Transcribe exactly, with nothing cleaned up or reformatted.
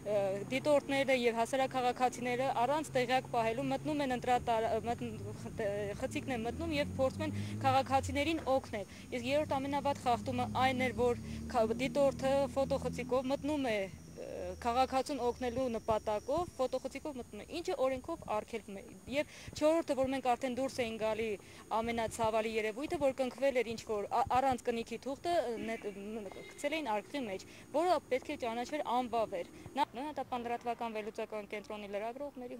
դիտորդները եւ հասարակաղաքացիները առանց տեղյակ պահելու մտնում են ընտրատար խցիկն են մտնում եւ փորձում են քաղաքացիներին օգնել։ Իսկ երրորդ ամենավատ խախտումը այն էր, որ դիտորդը ֆոտոխցիկով մտնում է քաղաքացուն օգնելու նպատակով ֆոտոխցիկով մտնում է, ինչը օրենքով արգելվում է։ Եվ չորրորդը, որ մենք արդեն դուրս էին գալի ամենացավալի երևույթը, որ կնքվել էր ինչ-որ առանց կնիքի թուղթը գցել էին արկղի մեջ, որը պետք է ճանաչվեր անվավեր։ Նա տապանդրատվական վերլուծական կենտրոնի լրագրողների